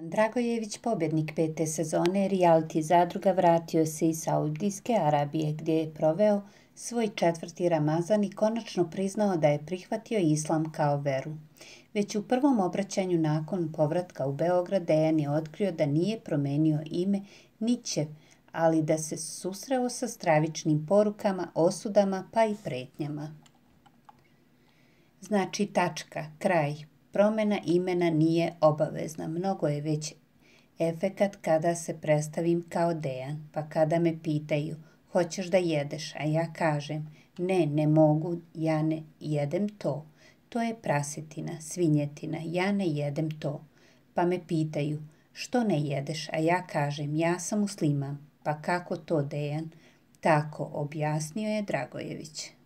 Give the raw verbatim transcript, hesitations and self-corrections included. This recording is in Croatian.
Dragojević, pobjednik pete sezone reality zadruga, vratio se iz Saudijske Arabije, gdje je proveo svoj četvrti Ramazan i konačno priznao da je prihvatio islam kao veru. Već u prvom obraćanju nakon povratka u Beograd, Dejan je otkrio da nije promenio ime ni će, ali da se susreo sa stravičnim porukama, osudama pa i pretnjama. Znači tačka, kraj. Promjena imena nije obavezna. Mnogo je već efekat kada se predstavim kao Dejan, pa kada me pitaju hoćeš da jedeš, a ja kažem ne, ne mogu, ja ne jedem to. To je prasetina, svinjetina, ja ne jedem to. Pa me pitaju što ne jedeš, a ja kažem ja sam musliman. Pa kako to, Dejan? Tako, objasnio je Dragojević.